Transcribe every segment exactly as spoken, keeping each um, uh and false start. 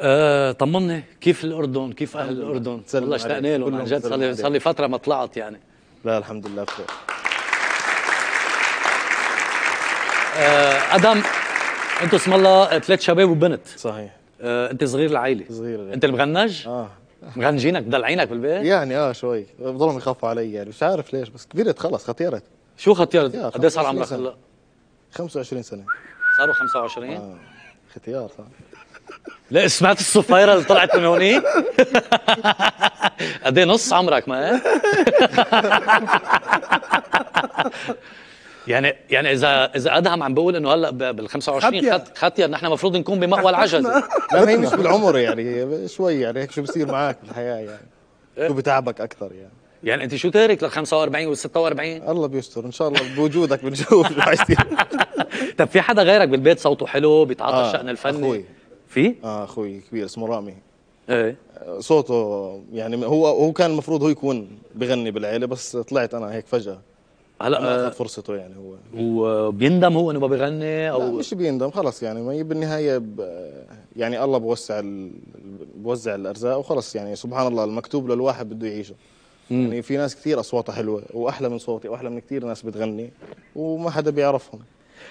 أه طمني كيف الأردن، كيف أهل الأردن؟ والله اشتقنا لهم عن جد، صار لي صار لي فترة ما طلعت يعني. لا الحمد لله بخير. أه أدم، أنتوا اسم الله ثلاث شباب وبنت. صحيح. أه أنت صغير العائلة. صغير يعني. أنت المغنج؟ اه مغنجينك مدلعينك بالبيت؟ يعني اه شوي، بضلهم يخافوا علي يعني، مش عارف ليش، بس كبرت خلص، ختيرت. شو ختيرت؟ قد ايه صار عمرك هلا؟ خمسة وعشرين سنة. صاروا خمسة وعشرين؟ اه ختيار صح. لا سمعت الصفيرة اللي طلعت من هونيك؟ قد ايه نص عمرك ما هيك؟ يعني يعني اذا اذا ادهم عم بقول انه هلا بال خمسة وعشرين خط ختير، نحن المفروض نكون بمأوى العجزة. لا هي مش بالعمر يعني، شوي يعني هيك شو بصير معك بالحياة يعني. شو بتعبك أكثر يعني. يعني انت شو تارك لل خمسة وأربعين وال ستة وأربعين؟ الله بيستر ان شاء الله بوجودك بنشوف شو حيصير. طب في حدا غيرك بالبيت صوته حلو بيتعاطى آه الشأن الفني؟ اخوي. في؟ اه اخوي كبير اسمه رامي. ايه صوته يعني هو هو كان المفروض هو يكون بغني بالعيله، بس طلعت انا هيك فجأة. هلا آه اخذ فرصته يعني هو. وبيندم هو انه ما بيغني او لا مش بيندم خلص يعني، ما بالنهايه يعني الله بوسع بوزع الارزاق وخلص يعني، سبحان الله المكتوب للواحد بده يعيشه. مم. يعني في ناس كثير اصواتها حلوه واحلى من صوتي واحلى من كثير ناس بتغني وما حدا بيعرفهم،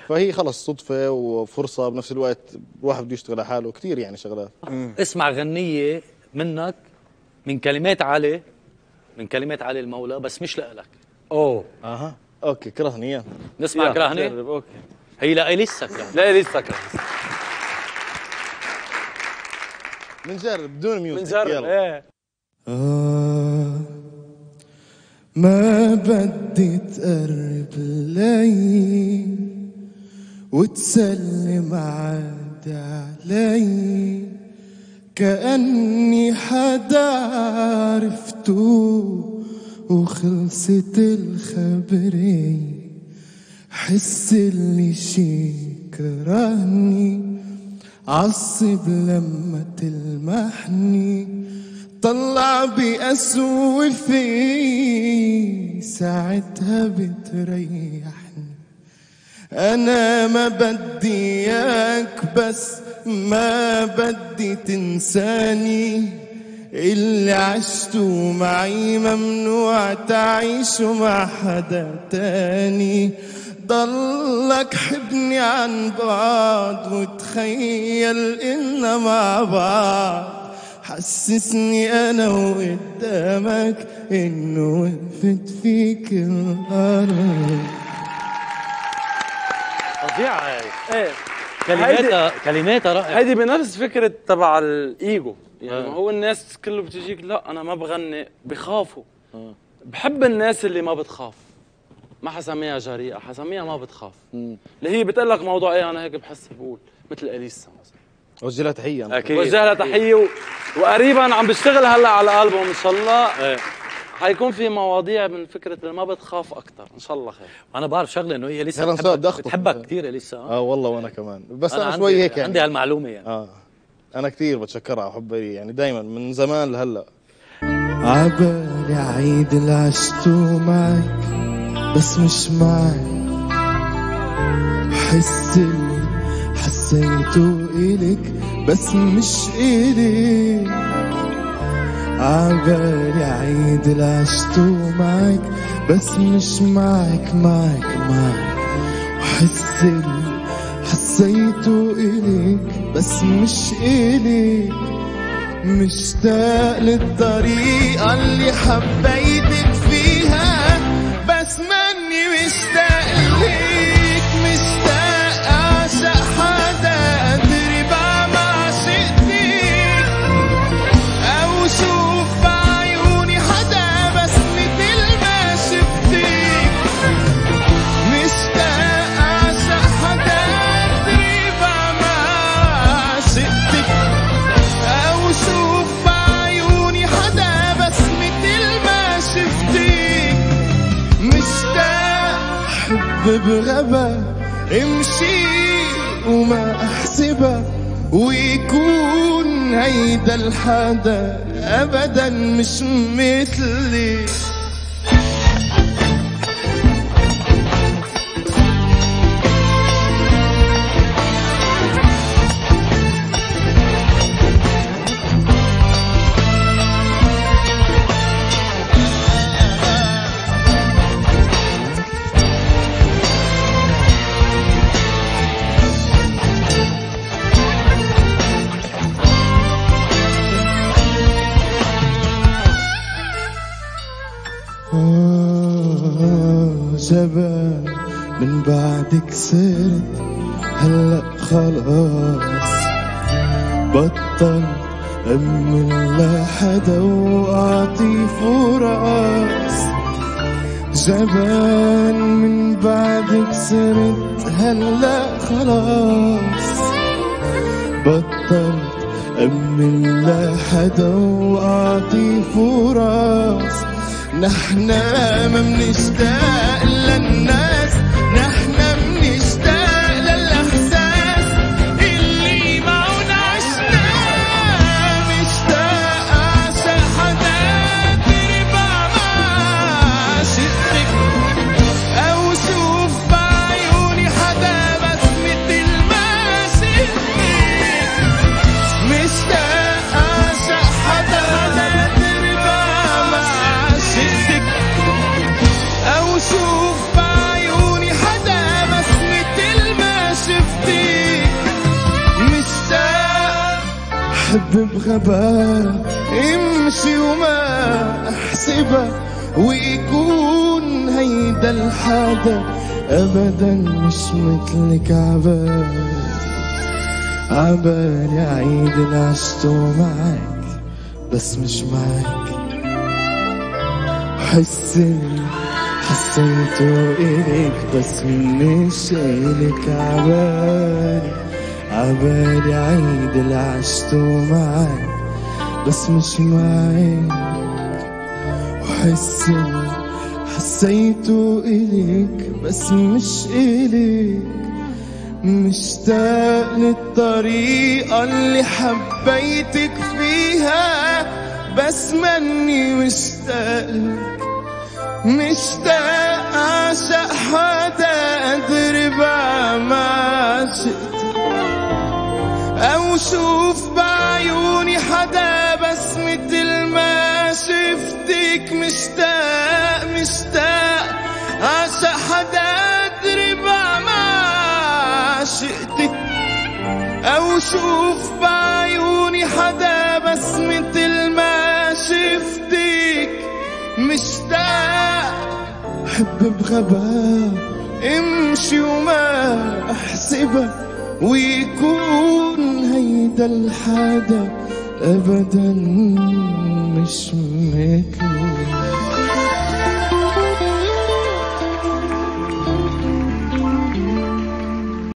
فهي خلص صدفه وفرصه بنفس الوقت، الواحد بده يشتغل على حاله كثير يعني شغلات. مم. اسمع غنيه منك من كلمات علي، من كلمات علي المولى، بس مش لك. اوه اها اوكي كرهني اياه. نسمع كرهني؟ اوكي هي لا لسه كرهني. لا لسه كرهني. بنجرب بدون ميوزك. بنجرب ايه. آه ما بدي تقرب لي وتسلم عادي علي، كأني حدا عرفته وخلصت الخبري، حس اللي شي كرهني عصب لما تلمحني، طلع بأسوي في ساعتها بتريحني. أنا ما بدي إياك بس ما بدي تنساني، اللي عشته معي ممنوع تعيشه مع حدا تاني، ضلك حبني عن بعض وتخيل إننا مع بعض، حسسني أنا وقدامك إنه وقفت فيك الأرض. فظيعة هاي. ايه كلماتها كلماتها رائعة. هيدي بنفس فكرة تبع الإيجو يعني. آه. هو الناس كله بتجيك لا أنا ما بغني، بخافوا. آه. بحب الناس اللي ما بتخاف، ما حسميها جريئة، حسميها ما بتخاف. مم. اللي هي بتقول لك موضوع ايه، أنا هيك بحس بقول مثل أليسا مثلا. وجه لها تحية. أكيد وجه لها تحية و... وقريبا عم بشتغل هلا على الألبوم إن شاء الله. ايه. حيكون في مواضيع من فكرة اللي ما بتخاف أكثر إن شاء الله خير. أنا بعرف شغلة إنه هي لسه بتحبك, بتحبك كثير لسه. اه والله وأنا كمان، بس أنا, أنا شوي هيك يعني عندي هالمعلومة يعني. اه أنا كثير بتشكرها على حبها يعني دايما من زمان لهلا. عبالي عيد اللي عشته معك بس مش معك، حس اللي حسيته إلك بس مش إلك، عبالي عيد اللي عشته معك بس مش معك معك معك، وحس اللي حسيته إلك بس مش إلك، مشتاق للطريقة اللي حبيتك فيها بس ماني مشتاق ليك، مشتاق أعشق حدا أدري بقى ما عشقتك، أو شوف بعيوني حدا بس مثل ما شفتك، مشتاق أعشق حدا أدري بقى ما عشقتك، أو شوف بعيوني حدا بس مثل ما شفتك، مشتاق حب بغبا امشي وما احسبها، ويكون هيدا الحدا ابدا مش مثلي. جبل من بعدك صرت هلأ خلاص بطل أمن لحدا وأعطي فرص. جبل من بعدك صرت هلأ خلاص بطل أمن لحدا وأعطي فرص. نحنا ما منشتاق للناس، نحنا منشتاق للإحساس اللي معون عشناه. مشتاق أعشق حدا تربع مع عشقتك، أو شوف بعيوني حدا بس متل ما شفتك. مشتاق أعشق حدا تربع مع عشقتك، أو شوف بعيوني حدا بس متل ما شفتك. مشتاق حب بغباء امشي وما احسبها، ويكون هيدا الحدا ابدا مش مثلك. عبال عبالي عيد اللي عشته معك بس مش معك. حسي حسيته إليك بس مش إليك. عبالي عبالي عيد اللي عشته معك بس مش معك. وحسي حسيته إليك بس مش إليك. مشتاق للطريقة اللي حبيتك فيها بس مني مشتاق لك. مشتاق أعشق حدا أدربع مع عشقتك، أو شوف بعيوني حدا بس متل ما شفتك. مشتاق مشتاق أعشق حدا أدربع مع عشقتك، أو شوف بعيوني حدا بس متل ما شفتك. مشتاق حب بغباء امشي وما احسبها، ويكون هيدا الحدا ابدا مش